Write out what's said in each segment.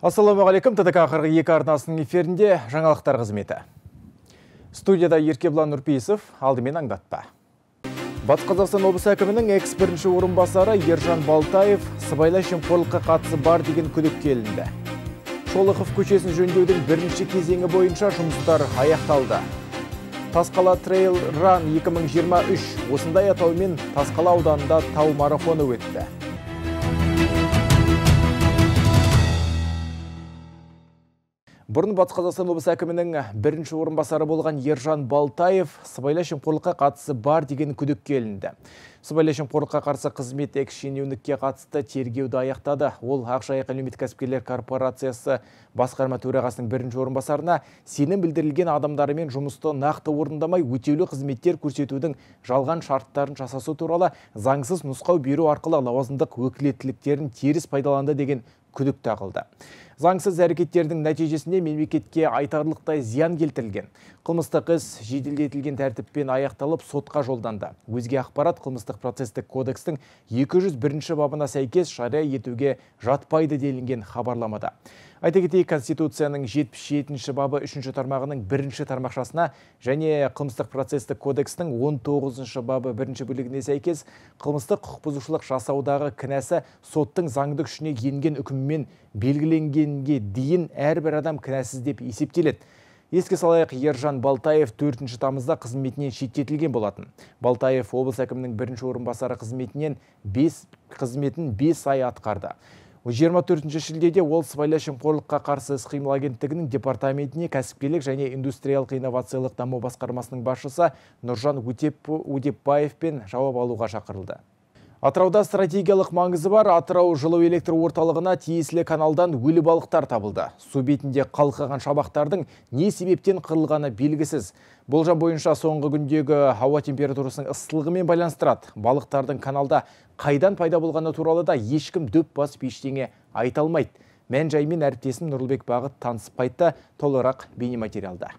Ассалаумағалейкум, ТДК 42 арнасының эфирінде жаңалықтар қызметі. Студияда Еркеблан Нұрпейісов, алдымен аңдатпа. Батыс Қазақстан облысы әкімінің экс-бірінші орынбасары Ержан Балтаев сыбайлас жемқорлыққа қатысы бар деген күдікке ілінді. Шолохов көшесін жөндеудің бірінші кезеңі бойынша жұмыстар аяқталды. Тасқала Трейл Ран 2023 осындай атаумен Тасқала ауданында тау марафоны өтті. Бұрын Батыс Қазақстан облысы әкімінің бірінші орынбасары болған Ержан Балтаев сыбайлас жемқорлыққа қатысы бар деген күдікке ілінді. Сыбайлас жемқорлыққа қарсы қызмет экс-шенеунікке қатысты тергеуді аяқтады. Ол Ақжайық әлеуметтік кәсіпкерлер корпорациясы басқарма төрағасының бірінші орынбасарына сенім білдірілген адамдарымен жұмысты нақты орындамай өтеулі қызметтер көрсетудің жалған шарттарын жасасу туралы заңсыз нұсқау беру арқылы лауазымдық өкілеттіліктерін теріс пайдаланды деген күдік тағылды. Заңсыз әрекеттердің нәтижесінде мемлекетке айтарлықтай зиян келтірілген. Қылмыстық іс жеделдетілген тәртіппен аяқталып сотқа жолданды. Өзге ақпарат қылмыстық процестік кодекстің 201 бабына сәйкес жария етуге жатпайды делінген хабарламада. Айта кетейік, Конституцияның 77 бабы 3 тармағының 1 тармақшасына және қылмыстық процестік кодекстің 19 бабы 1 бөлігіне сәйкес қылмыстық құқық бұзушылық жасаудағы кінәсі соттың заңды күшіне енген үкіммен белгіленгенге дейін әрбір адам кінәсіз деп есептеледі. Еске салайық, Ержан Балтаев 4 тамызда қызметінен шеттетілген болатын. Балтаев облыс әкімінің бірінші орынбасары қызметін 5 ай атқарды. 24 шілдеде ол сыбайлас жемқорлыққа қарсы іс-қимыл агенттігінің департаментіне кәсіпкерлік және индустриялық инновациялық даму басқармасының басшысы Нұржан Өтепбаевпен жауап алуға шақырылды. Атырауда стратегиялық маңызы бар Атырау жылу электр орталығына тиесілі каналдан өлі балықтар табылды. Су бетінде қалқыған шабақтардың не себептен қырылғаны белгісіз. Болжам бойынша соңғы күндегі ауа температурасының ыстылығымен байланыстырады. Балықтардың каналда қайдан пайда болғаны туралы да ешкім дөп басып ештеңе айта алмайды. Мән-жаймен әріптесім Нұрлыбек Бағыт танысып қайтты. Толығырақ бейнематериалда.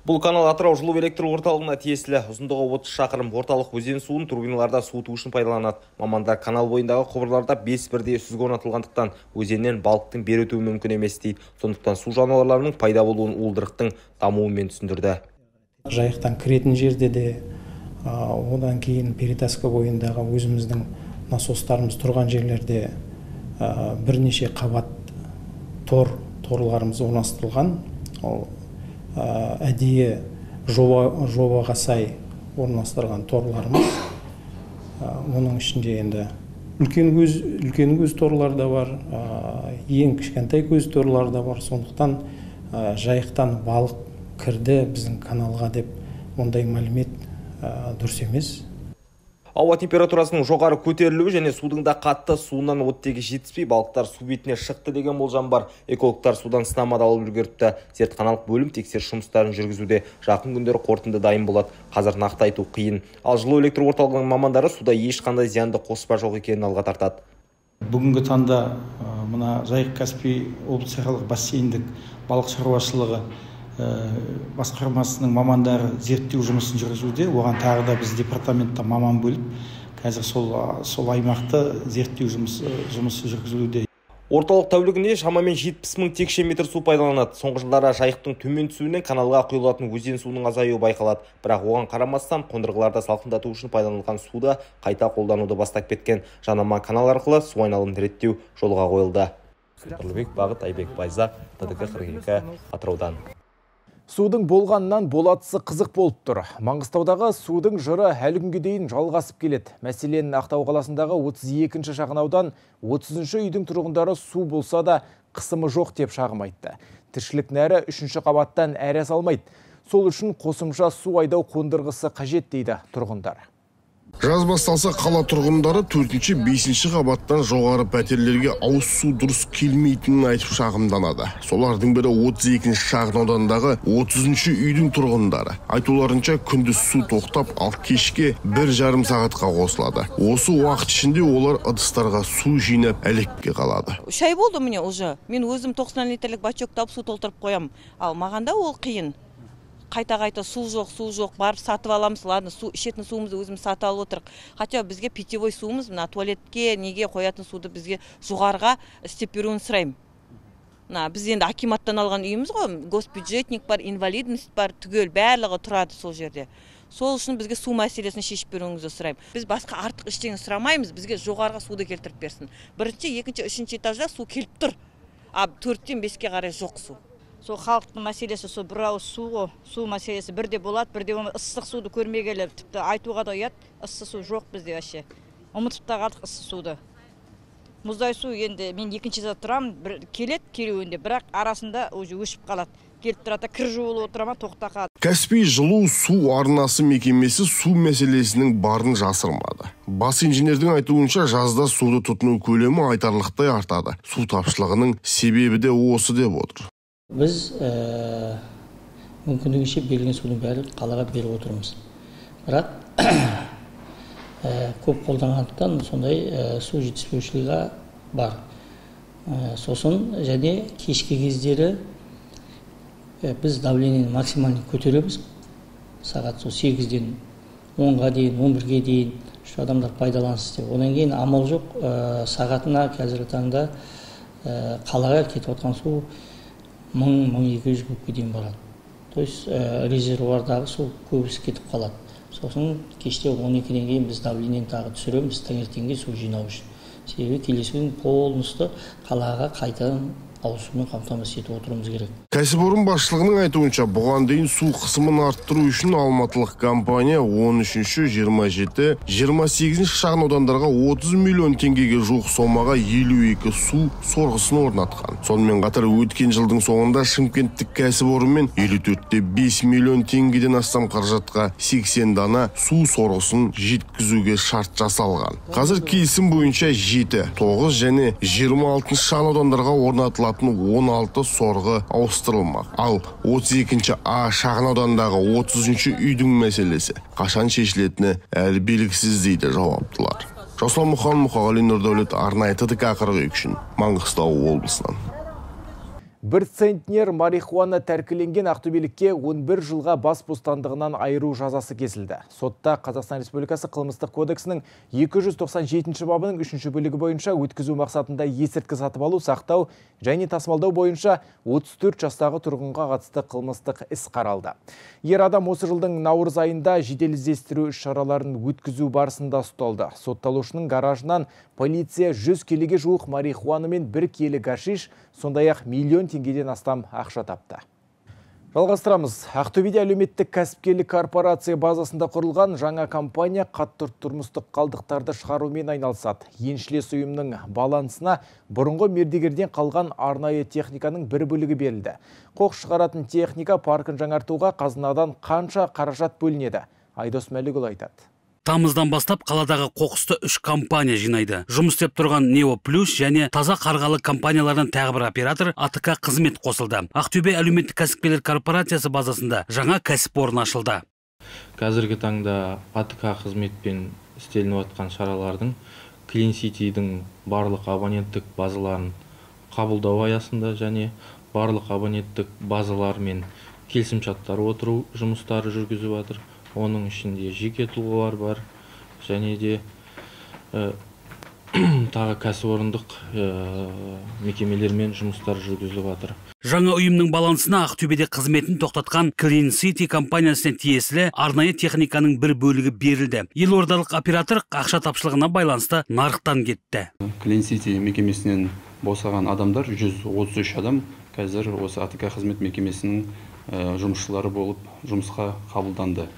Бұл канал Атырау жылу электр орталығына тиесілі. Ұзындығы 30 шақырым. Орталық өзен суын турбиналарда суыту үшін пайдаланады. Мамандар канал бойындағы құбырларда 5 бірдей сүзгі орнатылғандықтан өзеннен балықтың бері өтуі мүмкін емес дейді. Сондықтан су жануарларының пайда болуын уылдырықтың дамуымен түсіндірді. Жайықтан кіретін жерде де, одан кейін Перетаска бойындағы өзіміздің насостарымыз тұрған жерлерде бірнеше қабат торларымыз орналастырылған. Әдейі жобаға сай орналастырған торларымыз. Оның ішінде енді үлкен көз торлар да бар, ең кішкентай көз торлар да бар. Сондықтан жайықтан балық кірді біздің каналға деп ондай мәлімет дұрыс емес. Ауа температурасының жоғары көтерілуі және судың да қатты суынан оттегі жетіспей балықтар су бетіне шықты деген болжам бар. Экологтар судан сынама алып үлгеріпті. Зертханалық бөлім тексеріс жұмыстарын жүргізуде. Жақын күндері қорытынды дайын болады. Қазір нақты айту қиын. Ал жылу электр орталығының мамандары суда ешқандай зиянды қоспа жоқ екенін алға тартады. Бүгінгі таңда мына Жайық-Каспий облыстық бассейндік балық шаруашылығы басқармасының мамандары зерттеу жұмысын жүргізуде. Оған тағы да біз департаментта маман бөліп, қазір сол аймақты зерттеу жұмысы жүргізілуде. Орталық тәулігінде шамамен 70 мың текше метр су пайдаланады. Соңғы жылдары жайықтың төмен түсуінен каналға құйылатын өзен суының азаюы байқалады. Бірақ оған қарамастан қондырғыларда салқындату үшін пайдаланылған суды қайта қолдануды бастап кеткен. Жанама канал арқылы су айналымын реттеу жолға қойылды. Нұрлыбек Бағыт, Айбек Байзақ, ТДК 42 Атыраудан. Судың болғаннан болатысы қызық болып тұр. Маңғыстаудағы судың жыры әлі күнге дейін жалғасып келеді. Мәселен, Ақтау қаласындағы 32-ші шағынаудан 30-ші үйдің тұрғындары су болса да қысымы жоқ деп шағым айтты. Тіршілік нәрі 3-ші қабаттан әрі салмайды. Сол үшін қосымша су айдау қондырғысы қажет дейді тұрғындар. Жаз басталса қала тұрғындары 4-ші, 5-ші қабаттан жоғары пәтерлерге ауыз су дұрыс келмейтінін айтып шағымданады. Солардың бірі 32-ші шағын аудандағы 30-ші үйдің тұрғындары. Айтуларынша күндіз су тоқтап, ал кешке 1,5 сағатқа қосылады. Осы уақыт ішінде олар ыдыстарға су жинап әлекке қалады. 3 ай болды міне уже. Мен өзім 90 литрлік бачок тауып су толтырып қоям. Ал мағанда ол қиын. қайта су жоқ, барып сатып аламыз. Ладно, ішетін суымызды өзіміз сатып алып отырық. Хотя бізге питьевой суымыз, мына туалетке, неге қоятын суды бізге жоғарыға істеп беруін сұраймын. Біз енді акиматтан алған үйіміз ғой, госбюджетник бар, инвалидность бар, түгел барлығы тұрады сол жерде. Сол үшін бізге су мәселесін шешіп беруіңізді сұраймын. Біз басқа артық ештеңе сұрамаймыз, бізге жоғарыға суды келтіріп берсін. Бірінші, екінші, үшінші этажда су келіп тұр. А 4-тен 5-ке қарай жоқ су. Сол халықтың мәселесі сол бір ауыз су ғой. Су мәселесі бірде болады, бірде ыстық суды көрмегелі, тіпті айтуға да ұят, ыстық су жоқ бізде вообще. Ұмытып та қалдық ыстық суды. Мұздай су енді мен екінші этажда тұрамын, келуінде, бірақ арасында уже өшіп қалады. Келіп тұрады, кір жуылып отырама, тоқта қалады. Каспий жылу су арнасы мекемесі су мәселесінің барын жасырмады. Бас инженердің айтуынша жазда суды тұтыну көлемі айтарлықтай артады. Су тапшылығының себебі де осы деп отыр. Біз мүмкіндігінше берілген судың бәрі қалаға беріп отырмыз. Бірақ көп қолданғандықтан сондай су жетіспеушілігі бар. Сосын және кешкі кездері біз давлениені максимально көтереміз. Сағат 8-ден 10-ға дейін, 11-ге дейін şu адамдар пайдалансын деп. Одан кейін амал жоқ, сағатына қазіргі таңда қалаға кетіп отқан су 1000-1200 кубке дейін барады. То есть резервуардағы су көбісі кетіп қалады. Сосын кеште 12-ден кейін біз давлениені тағы түсіреміз, таңертеңге су жинау үшін. Себебі келесі күн полностью қалаға қайтадан ауысумен қамтамасыз етіп отыруымыз керек. Кәсіпорын басшылығының айтуынша, бұған дейін су қысымын арттыру үшін алматылық компания 13-ші, 27-ші, 28-ші шағын аудандарға 30 миллион теңгеге жуық сомаға 52 су сорғысын орнатқан. Сонымен қатар өткен жылдың соңында Шымкенттік кәсіпорынмен 54-те 5 миллион теңгеден астам қаражатқа 80 дана су сорғысын жеткізуге шарт жасалған. Қазір келісім бойынша 7, 9 және 26 шағын аудандарға орнатылған 16 сорғы ауыстырылмақ. Ал 32-ші А шағын аудандағы 30-ші үйдің мәселесі қашан шешілетіні әлі белгісіз дейді жауаптылар. Жасұлан Мұқан, Мұқағали Нұрдәулет, арнайы ТДК 42 үшін Маңғыстау облысынан. 1 центнер марихуана тәркіленген ақтөбелікке 11 жылға бас бостандығынан айыру жазасы кесілді. Сотта Қазақстан Республикасы қылмыстық кодексінің 297 бабының 3 бөлігі бойынша өткізу мақсатында есірткі сатып алу, сақтау және тасымалдау бойынша 34 жастағы тұрғынға қатысты қылмыстық іс қаралды. Ер адам осы жылдың наурыз айында жедел іздестіру іс-шараларын өткізу барысында ұсталды. Сотталушының гаражынан полиция 100 келіге жуық марихуана мен 1 келі гашиш, сондай-ақ миллион теңгеден астам ақша тапты. Жалғастырамыз. Ақтөбеде әлеуметтік кәсіпкерлік корпорация базасында құрылған жаңа компания қатты тұрмыстық қалдықтарды шығарумен айналысады. Еншілес ұйымның балансына бұрынғы мердігерден қалған арнайы техниканың бір бөлігі берілді. Қоқыс шығаратын техника паркін жаңартуға қазынадан қанша қаражат бөлінеді? Айдос Мәлікұлы айтады. Тамыздан бастап қаладағы қоқысты 3 компания жинайды. Жұмыс істеп тұрған Нео Плюс және таза қарғалы компаниялардан тағы бір оператор АТК қызмет қосылды. Ақтөбе әлеуметтік кәсіпкерлер корпорациясы базасында жаңа кәсіпорын ашылды. Қазіргі таңда АТК қызметпен істелініп жатқан шаралардың Clean City'дің барлық абоненттік базаларын қабылдау аясында және барлық абоненттік базалармен келісімшарттар отыру жұмыстары жүргізіп жатыр. Оның ішінде жеке тұлғалар бар және де тағы кәсіпорындық мекемелермен жұмыстар жүргізіліп жатыр. Жаңа ұйымның балансына Ақтөбеде қызметін тоқтатқан Clean City компаниясына тиесілі арнайы техниканың бір бөлігі берілді. Елордалық оператор ақша тапшылығына байланысты нарықтан кетті. Clean City мекемесінен босаған адамдар 133 адам қазір осы АТК қызмет мекемесінің жұмысшылары болып жұмысқа қабылданды.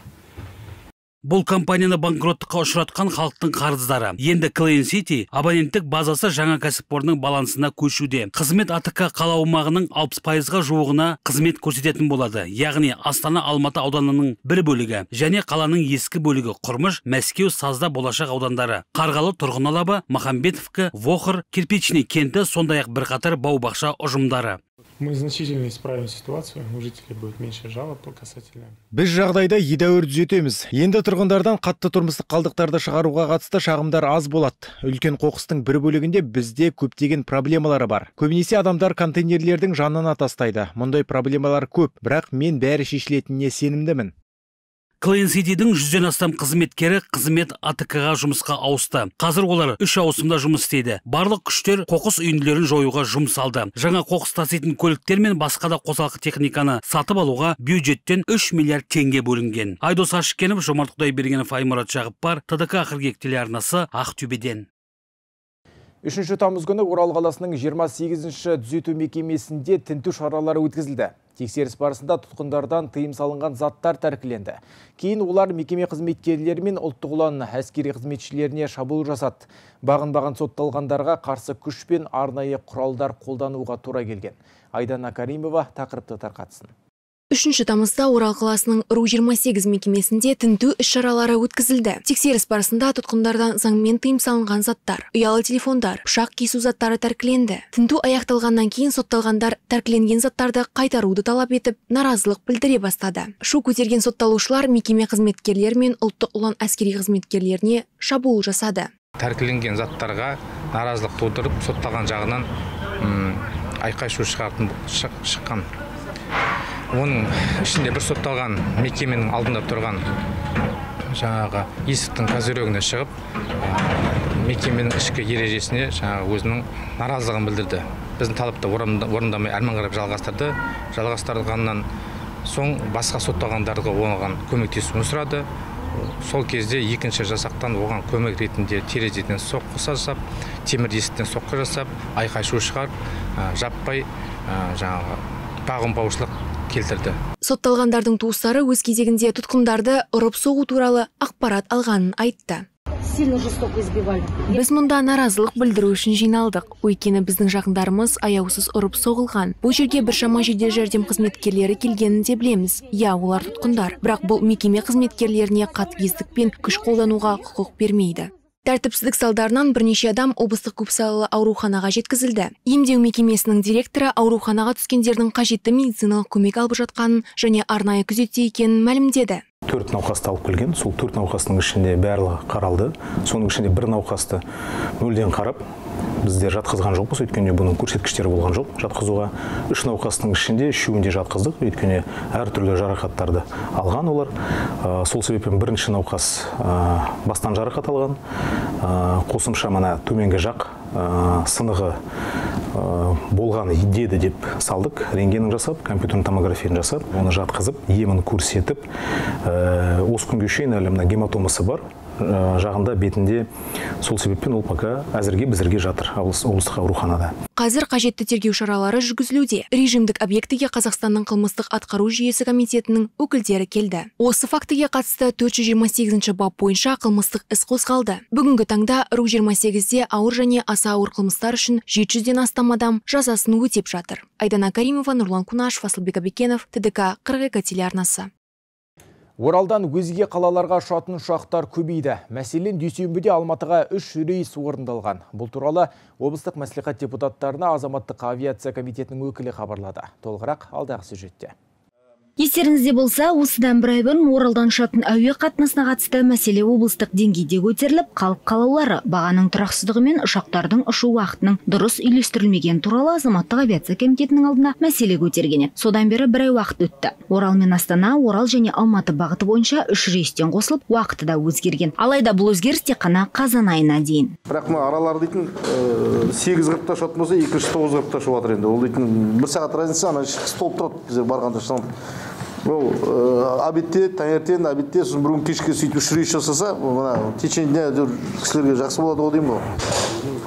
Бұл компанияны банкроттыққа ұшыратқан халықтың қарыздары. Енді Clean City абоненттік базасы жаңа кәсіпорынның балансына көшуде. Қызмет АТК қала аумағының 60%-ға жуығына қызмет көрсететін болады. Яғни Астана Алматы ауданының бір бөлігі және қаланың ескі бөлігі Құрмыш, Мәскеу, Сазда, Болашақ аудандары, Қарғалы, Тұрғын алабы, Махамбетовка, Вохр, Кирпичный кенті, сондай-ақ бірқатар бау-бақша ұжымдары. Мы значительно исправим ситуацию, у жителей будет меньше жалоб касательно. Біз жағдайда едәуір түзетеміз. Енді тұрғындардан қатты тұрмыстық қалдықтарды шығаруға қатысты шағымдар аз болады. Үлкен қоқыстың бір бөлігінде бізде көптеген проблемалары бар. Көбінесе адамдар контейнерлердің жанына тастайды. Мұндай проблемалар көп, бірақ мен бәрі шешілетініне сенімдімін. Clean City'дің 100-ден астам қызметкері қызмет АТК-ға жұмысқа ауысты. Қазір олар 3 ауысымда жұмыс істейді. Барлық күштер қоқыс үйінділерін жоюға жұмсалды. Жаңа қоқыс таситын көліктер мен басқа да қосалқы техниканы сатып алуға бюджеттен 3 миллиард теңге бөлінген. Айдос Ашыкенов, Жомарт Құдайбергенов, Аймұрат Жағыппар, ТДК Қыркүйек телеарнасы, Ақтөбеден. 3 тамыз күні Орал қаласының 28-ші түзету мекемесінде тінту шаралары өткізілді. Тексеріс барысында тұтқындардан тыйым салынған заттар тәркіленді. Кейін олар мекеме қызметкерлері мен ұлттық ұлан әскери қызметшілеріне шабуыл жасады. Бағынбаған сотталғандарға қарсы күш пен арнайы құралдар қолдануға тура келген. Айдана Каримова тақырыпты тарқатсын. 3 тамызда Орал қаласының РУ-28 мекемесінде тінту іс-шаралары өткізілді. Тексеріс барысында тұтқындардан заңмен тыйым салынған заттар, ұялы телефондар, пышақ кесу заттары тәркіленді. Тінту аяқталғаннан кейін сотталғандар тәркіленген заттарды қайтаруды талап етіп, наразылық білдіре бастады. Шу көтерген сотталушылар мекеме қызметкерлері мен ұлттық ұлан әскери қызметкерлеріне шабуыл жасады. Тәркіленген заттарға наразылық тудырып, сотталған жағынан айқай-шу шыққан. Оның ішінде бір сотталған мекеменің алдында тұрған жаңағы есіктің козырегіне шығып, мекеменің ішкі ережесіне жаңағы өзінің наразылығын білдірді. Біздің талапты орындамай әрмен қарап жалғастырғаннан соң басқа сотталғандарға оған көмектесуін сұрады. Сол кезде екінші жасақтан оған көмек ретінде терезеден соққы жасап, темір есіктен соққы жасап, айқай-шу шығарып, жаппай жаңағы бағынбаушылық келтірді. Сотталғандардың туыстары өз кезегінде тұтқындарды ұрып соғу туралы ақпарат алғанын айтты. Біз мұнда наразылық білдіру үшін жиналдық. Өйткені біздің жақындарымыз аяусыз ұрып соғылған. Бұл жерге біршама жедел жәрдем қызметкерлері келгенін де білеміз. Я, олар тұтқындар. Бірақ бұл мекеме қызметкерлеріне қатыгездік пен күш қолдануға құқық бермейді. Тәртіпсіздік салдарынан бірнеше адам облыстық көпсалалы ауруханаға жеткізілді. Емдеу мекемесінің директоры ауруханаға түскендердің қажетті медициналық көмек алып жатқанын және арнайы күзетте екенін мәлімдеді. 4 науқасты алып келген, сол 4 науқастың ішінде барлығы қаралды. Соның ішінде бір науқасты мүлден қарап, біздер жатқызған жоқпыз, өйткені бұның көрсеткіштері болған жоқ жатқызуға. 3 науқастың ішінде 3-інде жатқыздық, өйткені әртүрлі жарақаттарды алған олар. Сол себеппен бірінші науқас бастан жарақат алған, қосымша мына төменгі жақ сынығы болған деді деп салдық, рентгенін жасап, компьютерный томографияны жасап, оны жатқызып, емін көрсетіп, осы күнге шейін әлі мына гематомасы бар жағында бетінде, сол себеппен ол пока әзірге біздерге жатыр облыстық ауруханада. Қазір қажетті тергеу шаралары жүргізілуде. Режимдік объектіге Қазақстанның қылмыстық атқару жүйесі комитетінің өкілдері келді. Осы фактіге қатысты 428 бап бойынша қылмыстық іс қозғалды. Бүгінгі таңда РУ-28-де ауыр және аса ауыр қылмыстар үшін 700-ден астам адам жазасын өтеп жатыр. Айдана Каримова, Нұрлан Кунашев, Асылбек Абекенов, ТДК Қыркүйек телеарнасы. Оралдан өзге қалаларға ұшатын ұшақтар көбейді. Мәселен, дүйсенбіде Алматыға 3 рейс орындалған. Бұл туралы облыстық мәслихат депутаттарына азаматтық авиация комитетінің өкілі хабарлады. Толығырақ алдағы сюжетте. Естеріңізде болса, осыдан бір ай бұрын Оралдан ұшатын әуе қатынасына қатысты мәселе облыстық деңгейде көтеріліп, қалып қалаулары бағаның тұрақсыздығы мен ұшақтардың ұшу уақытының дұрыс үйлестірілмеген туралы азаматтық авиация комитетінің алдына мәселе көтерген еді. Содан бері бір ай уақыт өтті. Орал мен Астана, Орал және Алматы бағыты бойынша 3 рейстен қосылып, уақыты да өзгерген. Алайда бұл өзгеріс тек қана қазан айына дейін. Бірақ аралар дейтін 8:40-та ұшатын болса, 9:40-та ұшып жатыр енді. Ол дейтін 1 сағат разница, ана столып тұрады біздер барғанда шығамыз. Ол обедте, таңертең обедте, сосын бір күн кешке сөйтіп 3 рейс жасаса, мына течение кісілерге жақсы болады ғой деймін ғой.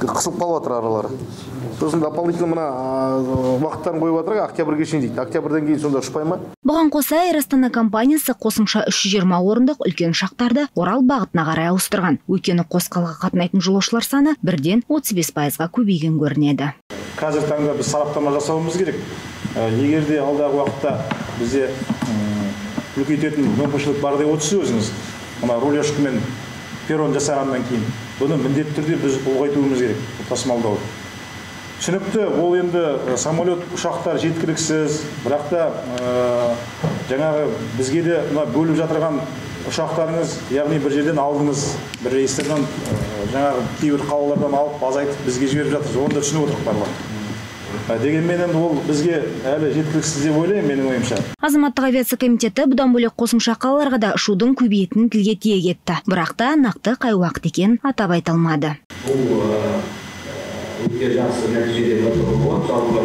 Қысылып қалып жатыр аралары. Сосын дополнительно мына уақыттарын қойып жатыр, октябрьге шейін дейді. Октябрьден кейін сонда ұшпай ма? Бұған қоса Air Astana компаниясы қосымша 320 орындық үлкен ұшақтарды Орал бағытына қарай ауыстырған. Өйткені қос қалаға қатынайтын жолаушылар саны 1-35%-ға көбейген көрінеді. Қазір таңда біз сараптама жасауымыз керек. Егер де алдағы уақытта бізде үлкейтетін мүмкіншілік бар деп отырсыз өзіңіз, мына рулежка мен перрон жасағаннан кейін, бұны міндетті түрде біз ұлғайтуымыз керек, тасымалдауды. түсінікті, ол енді самолет, ұшақтар жеткіліксіз, бірақ та жаңағы бізге де бөліп жатырған ұшақтарыңыз, яғни бір жерден алдыңыз, бір рейстерден жаңағы кейбір қалалардан алып азайтып бізге жіберіп жатырсыз, оны да түсініп отырық барлығы. Дегенмен енді ол бізге әлі жеткіліксіз деп ойлаймын, менің ойымша. Азаматтық авиация комитеті бұдан бөлек қосымша қалаларға да ұшудың көбейетінін тілге тиек етті. Бірақ та нақты қай уақыт екенін атап айта алмады. Бұл өте жақсы нәтиже деп айтуға болады, жалпы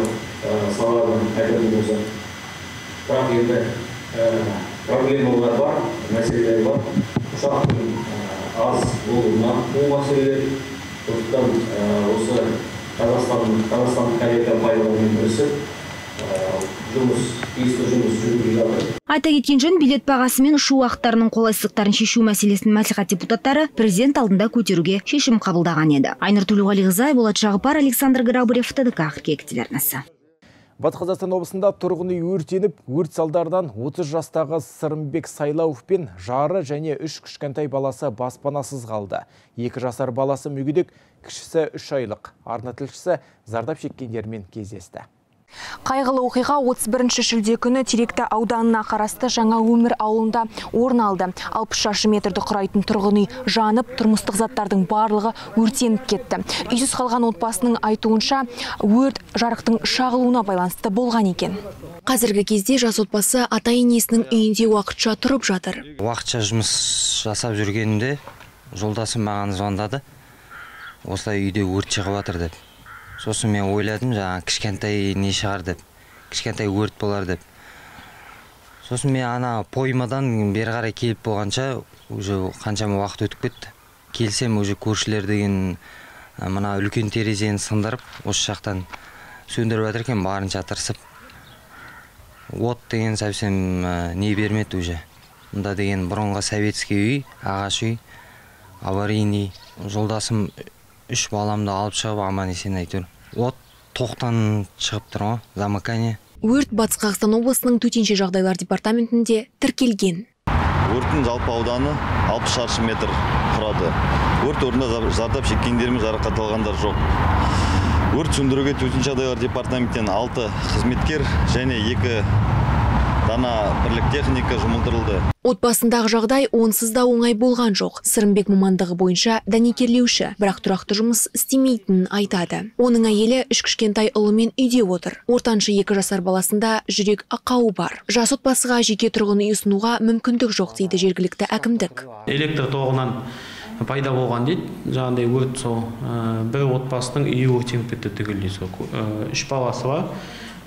саладан айтатын болсақ. Бірақ енді проблемалар бар, мәселелер бар. Ұшақтың аз болуына бұл мәселелер. Сондықтан осы Қазақстандық авиакомпаниялармен бірісіп тиісті жұмыс жүргізіп жатыр. Айта кеткен жөн, билет бағасы мен ұшу уақыттарының қолайсыздықтарын шешу мәселесін мәслихат депутаттары президент алдында көтеруге шешім қабылдаған еді. Айнұр Төлеуғалиқызы, Болат Жағыпар, Александр Грабарев, ТДК қыркүйек телеарнасы. Батыс Қазақстан облысында тұрғын үй өртеніп, өрт салдарынан 30 жастағы Сырымбек Сайлауов пен жары және 3 кішкентай баласы баспанасыз қалды. 2 жасар баласы мүгедек, кішісі 3 айлық. Арна тілшісі зардап шеккендермен кездесті. Қайғылы оқиға 31 шілде күні Теректі ауданына қарасты Жаңа Өмір ауылында орын алды. 60 шаршы метрді құрайтын тұрғын үй жанып, тұрмыстық заттардың барлығы өртеніп кетті. Үйсіз қалған отбасының айтуынша, өрт жарықтың шағылуына байланысты болған екен. Қазіргі кезде жас отбасы ата-енесінің үйінде уақытша тұрып жатыр. Уақытша жұмыс жасап жүргенімде жолдасым маған звондады. Осылай үйде өрт шығып жатыр деп. Сосын мен ойладым, жаңа кішкентай не шығар деп, кішкентай өрт болар деп. Сосын мен ана поймадан бері қарай келіп болғанша, уже қаншама уақыт өтіп кетті. Келсем, уже көршілер деген мына үлкен терезені сындырып, осы жақтан сөндіріп жатыр екен, барынша тырысып. От деген совсем не бермеді уже. Мұнда деген бұрынғы советский үй, ағаш үй, аварийный. Жолдасым 3 баламды алып шығып, аман-есен әйтеуір. От тоқтан шығып тұр ғой, замыкание. Өрт Батыс Қазақстан облысының төтенше жағдайлар департаментінде тіркелген. Өрттің жалпы ауданы 60 шаршы метр құрады. Өрт орнында зардап шеккендер мен жарақат алғандар жоқ. Өрт сөндіруге төтенше жағдайлар департаменттен 6 қызметкер және 2 дана бірлік техника жұмылдырылды. Отбасындағы жағдай онсыз да оңай болған жоқ. Сырымбек мамандығы бойынша дәнекерлеуші, бірақ тұрақты жұмыс істемейтінін айтады. Оның әйелі 3 кішкентай ұлымен үйде отыр. Ортаншы 2 жасар баласында жүрек ақауы бар. Жас отбасыға жеке тұрғын үй ұсынуға мүмкіндік жоқ дейді жергілікті әкімдік. Электр тоғынан пайда болған дейді. Жаңағыдай өрт сол бір отбасының үйі өртеніп кетті түгелдей. 3 баласы бар.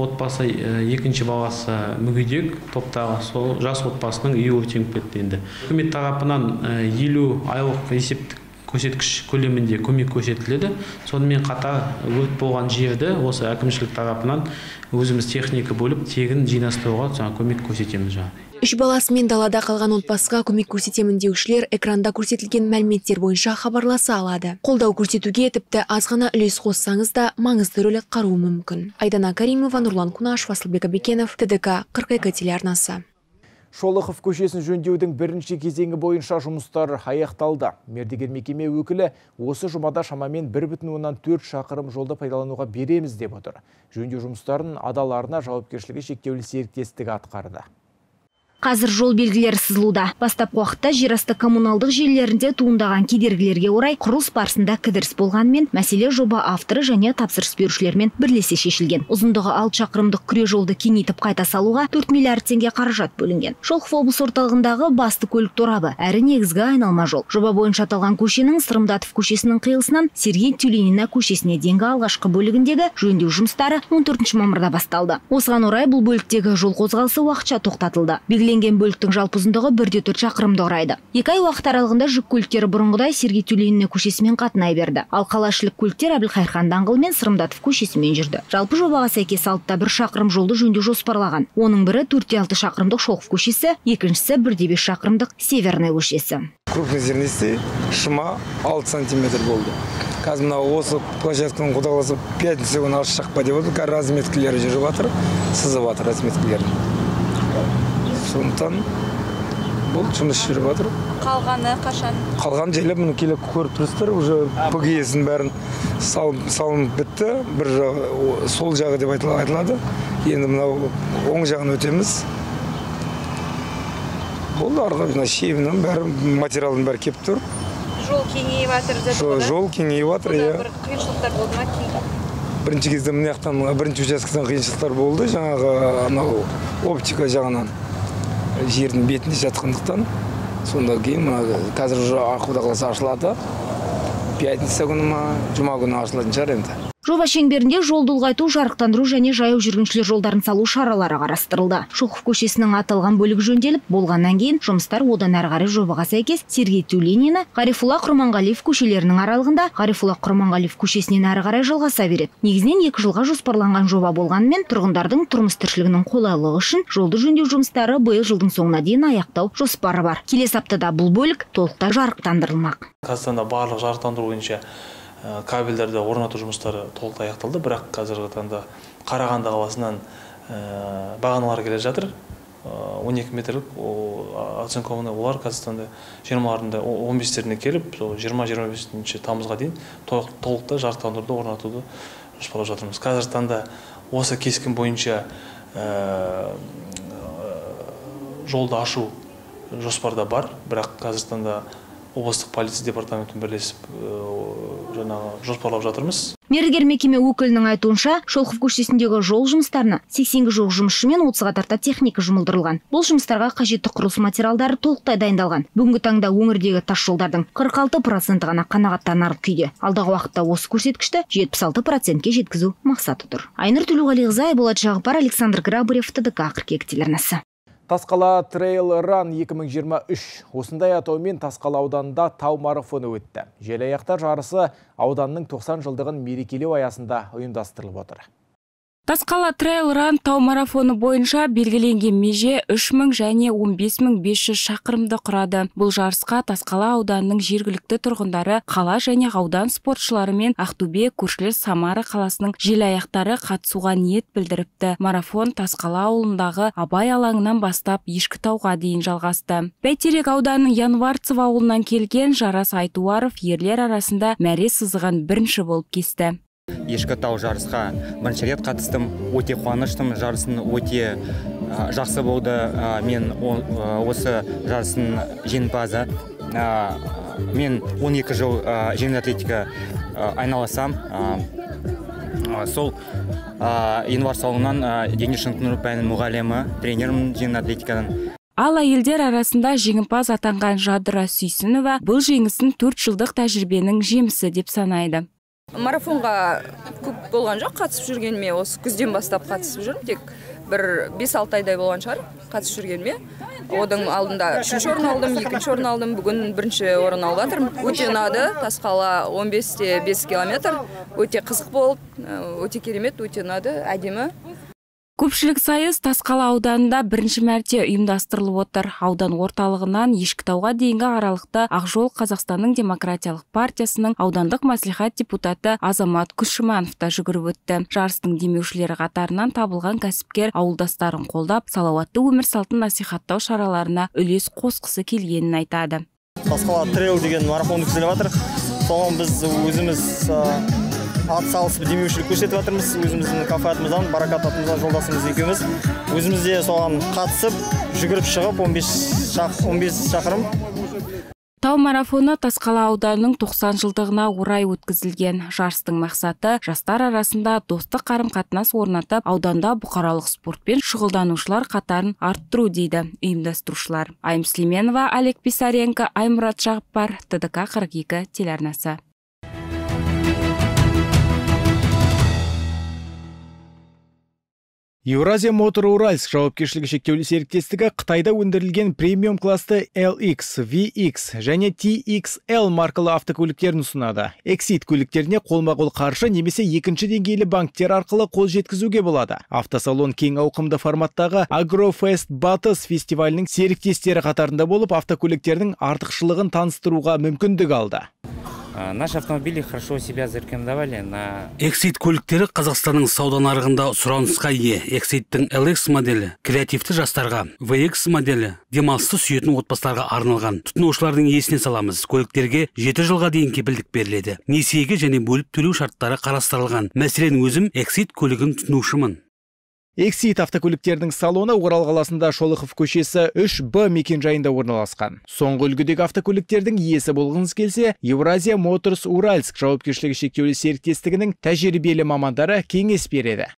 Отбасы екінші баласы мүгедек, топтағы сол жас отбасының үйі өртеніп кетті енді. Үкімет тарапынан 50 айлық есептік көрсеткіш көлемінде көмек көрсетіледі. Сонымен қатар өрт болған жерді осы әкімшілік тарапынан өзіміз техника бөліп тегін жинастыруға көмек көрсетеміз жаңағыдай. 3 баласымен далада қалған отбасыға көмек көрсетемін деушілер экранда көрсетілген мәліметтер бойынша хабарласа алады. Қолдау көрсетуге тіпті аз ғана үлес қоссаңыз да маңызды рөл атқаруы мүмкін. Айдана Каримова, Нұрлан Кунашев, Асылбек Абекенов, ТДК 42 телеарнасы. Шолохов көшесін жөндеудің бірінші кезеңі бойынша жұмыстар аяқталды. Мердігер мекеме өкілі осы жұмада шамамен 1,4 шақырым жолды пайдалануға береміз деп отыр. Жөндеу жұмыстарын адаларына жауапкершілігі шектеулі серіктестігі атқарды. Қазір жол белгілері сызылуда. Бастапқы уақытта жерасты коммуналдық желілерінде туындаған кедергілерге орай құрылыс барысында кідіріс болғанымен, мәселе жоба авторы және тапсырыс берушілермен бірлесе шешілген. Ұзындығы 6 шақырымдық күре жолды кеңейтіп қайта салуға 4 миллиард теңге қаражат бөлінген. Шолохов облыс орталығындағы басты көлік торабы, әрі негізгі айналма жол. Жоба бойынша аталған көшенің Сырымдатов көшесінің қиылысынан Сергей Тюленина көшесіне дейінгі алғашқы бөлігіндегі жөндеу жұмыстары 14 мамырда басталды. Осыған орай бұл бөліктегі жол қозғалысы уақытша тоқтатылды. Белгіленген бөліктің жалпы ұзындығы 1,4 шақырымды құрайды. 2 ай уақыт аралығында жүк көліктері бұрынғыдай Сергей Тюленина көшесімен қатынай берді. Ал қалашылық көліктер Әбілқайырхан даңғылы мен Сырымдатов көшесімен жүрді. Жалпы жобаға сәйкес 1 шақырым жолды жөндеу жоспарлаған. Оның бірі 4,6 шақырымдық Шолохов көшесі, екіншісі 1,5 шақырымдық Северный көшесі. Крупный зернистый шыма 6 сантиметр болды. Қазір мына осы площадканың құдаласы 5 күн ашық па деп отыр. Разметкілері жүріп жатыр, сызып жатыр разметкілері. Сондықтан бұл жұмыс жүріп жатыр. Қалғаны қашан? Қалған жайлап мұны келіп көріп тұрсыздар, уже ПГС'ін бәрін салынып бітті. Бір сол жағы деп айтылады. Енді мынау оң жағын өтеміз. Бұл арғы шебінің бәрі, материалдың бәрі кеп тұр. Жол кеңейіп жатыр деді ғой? Жол кеңейіп жатыр, иә. Бір қиыншылықтар болды ма? Бірінші кезде мына жақтан, бірінші учаскеден қиыншылықтар болды, жаңағы оптика жағынан. Жердің бетінде жатқандықтан. Сонда кейін қазір Құдай қаласа ашылады. Пятница күні ма, жұма күні ашылатын шығар енді. Жоба шеңберінде жолды ұлғайту, жарықтандыру және жаяу жүргіншілер жолдарын салу шаралары қарастырылды. Шолқов көшесінің аталған бөлігі жөнделіп, болғаннан кейін жұмыстар одан әрі қарай жобаға сәйкес Сергей Тюленина, Ғарифолла Құрманғалиев көшелерінің аралығында Ғарифолла Құрманғалиев көшесінен әрі қарай жалғаса береді. Негізінен 2 жылға жоспарланған жоба болғанымен, тұрғындардың тұрмыс тіршілігінің қолайлығы үшін жолды жөндеу жұмыстары биыл жылдың соңына дейін аяқтау жоспары бар. Келесі аптада бұл бөлік толықтай жарықтандырылмақ. Қазақстанда барлық жарықтандыру бойынша кабельдерді орнату жұмыстары толықтай аяқталды, бірақ қазіргі таңда Қарағанды қаласынан бағаналар келе жатыр. 12 метрлік оцинкованный олар Қазақстанда 20-ларында 15-теріне келіп, 20-25 тамызға дейін толықтай жарықтандыруды орнатуды жоспарлап жатырмыз. Қазіргі таңда осы кескін бойынша жолды ашу жоспарда бар, бірақ қазіргі таңда облыстық полиция департаментімен бірлесіп жоспарлап жатырмыз. Мердігер мекеме өкілінің айтуынша, Шолқов көшесіндегі жол жұмыстарына 80-ге жуық жұмысшы мен 30-ға тарта техника жұмылдырылған. Бұл жұмыстарға қажетті құрылыс материалдары толықтай дайындалған. Бүгінгі таңда өңірдегі тас жолдардың 46% ғана қанағаттанарлық күйде. Алдағы уақытта осы көрсеткішті 76%-ке жеткізу мақсаты тұр. Айнұр Төлеуғалиқызы, Айболат Жағыпар, Александр Грабарев, ТДК қыркүйек телеарнасы. Тасқала Трейл Ран 2023 осындай атаумен Тасқала ауданында тау марафоны өтті. Желаяқтар жарысы ауданның 90 жылдығын мерекелеу аясында ұйымдастырылып отыр. Тасқала Трейл Ран тау марафоны бойынша белгіленген меже 3000 және 15500 шақырымды құрады. Бұл жарысқа Тасқала ауданының жергілікті тұрғындары, қала және аудан спортшылары мен Ақтөбе, көршілес Самара қаласының желаяқтары қатысуға ниет білдіріпті. Марафон Тасқала ауылындағы Абай алаңынан бастап Ешкітауға дейін жалғасты. Бәйтерек ауданының Январцев ауылынан келген Жарас Айтуаров ерлер арасында мәре сызған бірінші болып кесті. Ешкітау жарысқа бірінші рет қатыстым, өте қуаныштым, жарысын өте жақсы болды. Мен осы жарысын жеңімпазы. Мен 12 жыл жеңіл атлетика айналысам. Сол Январцев ауылынан дене шынықтыру пәнінің мұғалімі, тренерім жеңіл атлетикадан. Ал әйелдер арасында жеңімпаз атанған Жадыра Сүйсінова бұл жеңісін 4 жылдық тәжірибенің жемісі деп санайды. Марафонға көп болған жоқ, қатысып жүргеніме, осы күзден бастап қатысып жүрмін, тек бір 5-6 айдай болған шығар қатысып жүргеніме. Одан алдында 3-ші орын алдым, 2-ші орын алдым, бүгін 1-ші орын алып жатырмын. Өте ұнады, Тасқала 15-те 5 километр, өте қызық болды, өте керемет, өте ұнады, әдемі. Көпшілік сайыс Тасқала ауданында бірінші мәрте ұйымдастырылып отыр. Аудан орталығынан Ешкітауға дейінгі аралықта Ақжол Қазақстанның демократиялық партиясының аудандық мәслихат депутаты Азамат Күшіманов та жүгіріп өтті. Жарыстың демеушілері қатарынан табылған кәсіпкер ауылдастарын қолдап, салауатты өмір салтын насихаттау шараларына үлес қосқысы келгенін айтады. Тасқала трейл деген марафон өткізіліп жатыр. Соған біз өзіміз ат салысып демеушілік көрсетіп жатырмыз. Өзіміздің кафе атымыздан, Баракат атымыздан жолдасымыз екеуміз. Өзіміз де соған қатысып, жүгіріп шығып 15 шақырым. Тау марафоны Тасқала ауданының 90 жылдығына орай өткізілген. Жарыстың мақсаты жастар арасында достық қарым-қатынас орнатып, ауданда бұқаралық спортпен шұғылданушылар қатарын арттыру дейді ұйымдастырушылар. Айым Слеменова, Олег Писаренко, Аймұрат Жағыпар, ТДК 42 телеарнасы. Еуразия Мотор Уральск жауапкершілігі шектеулі серіктестігі Қытайда өндірілген премиум класты LX, VX және TXL маркалы автокөліктерін ұсынады. Exit көліктеріне қолма-қол қаржы немесе екінші деңгейлі банктер арқылы қол жеткізуге болады. Автосалон кең ауқымды форматтағы Агрофест Батыс фестивалінің серіктестері қатарында болып, автокөліктердің артықшылығын таныстыруға мүмкіндік алды. Наши автомобили хорошо себя зарекомендовали на... Exit көліктері Қазақстанның сауда нарығында сұранысқа ие. Exit'тің LX моделі креативті жастарға, VX моделі демалысты сүйетін отбасыларға арналған. Тұтынушылардың есіне саламыз. Көліктерге 7 жылға дейін кепілдік беріледі. Несиеге және бөліп төлеу шарттары қарастырылған. Мәселен, өзім Exit көлігін тұтынушымын. Exit автокөліктердің салоны Орал қаласында Шолохов көшесі 3Б мекенжайында орналасқан. Соңғы үлгідегі автокөліктердің иесі болғыңыз келсе, Евразия Моторс Уральск жауапкершілігі шектеулі серіктестігінің тәжірибелі мамандары кеңес береді.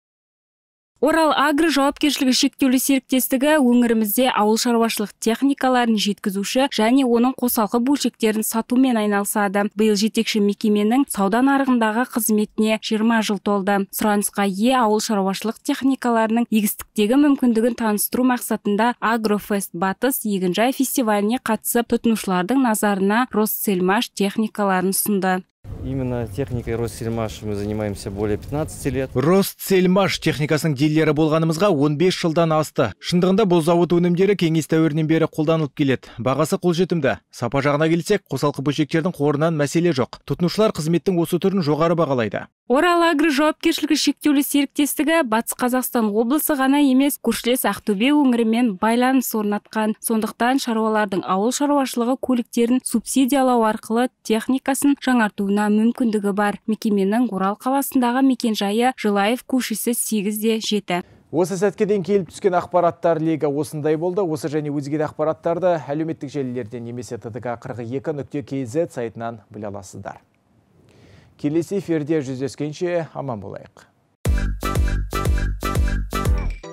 Орал Агро жауапкершілігі шектеулі серіктестігі өңірімізде ауыл шаруашылық техникаларын жеткізуші және оның қосалқы бөлшектерін сатумен айналысады. Биыл жетекші мекеменің сауда нарығындағы қызметіне 20 жыл толды. Сұранысқа ие ауыл шаруашылық техникаларының егістіктегі мүмкіндігін таныстыру мақсатында Агрофест Батыс егінжай фестиваліне қатысып, тұтынушылардың назарына Россельмаш техникаларын ұсынды. Именно техникой Россельмаш мы занимаемся более 15 лет. Россельмаш техникасының дилерлері болғанымызға 15 жылдан асты. Шындығында бұл зауыт өнімдері кеңес дәуірінен бері қолданылып келеді. Бағасы қолжетімді. Сапа жағына келсек, қосалқы бөлшектердің қорынан мәселе жоқ. Тұтынушылар қызметтің осы түрін жоғары бағалайды. Орал Агро жауапкершілігі шектеулі серіктестігі Батыс Қазақстан облысы ғана емес, көршілес Ақтөбе өңірімен байланыс орнатқан. Сондықтан шаруалардың ауыл шаруашылығы көліктерін субсидиялау арқылы техникасын жаңартуына мүмкіндігі бар. Мекеменің Орал қаласындағы мекенжайы Жылаев көшесі 8-7. Осы сәтке дейін келіп түскен ақпараттар легі осындай болды. Осы және өзге де ақпараттарды әлеуметтік желілерден немесе ttk42.kz сайтынан біле аласыздар. Келесі эфирде жүздескенше аман болайық.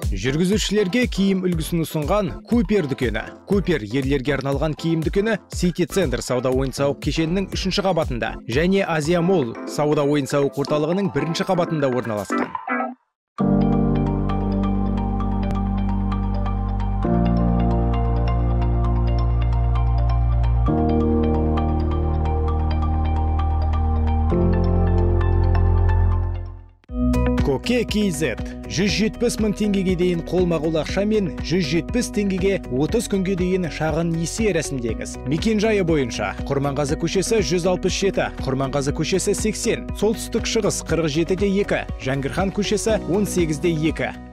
Жүргізушілерге киім үлгісін ұсынған Купер дүкені. Купер ерлерге арналған киім дүкені Сити Центр сауда ойын-сауық кешенінің 3-ші қабатында және Азия Молл сауда ойын-сауық орталығының 1-ші қабатында орналасқан. Коке KZ 170 мың теңгеге дейін қолма-қол ақша мен 170 теңгеге 30 күнге дейін шағын несие рәсімдеңіз. Мекенжайы бойынша Құрманғазы көшесі 167, Құрманғазы көшесі 80, солтүстік шығыс 47-2, Жәңгірхан көшесі 18-2.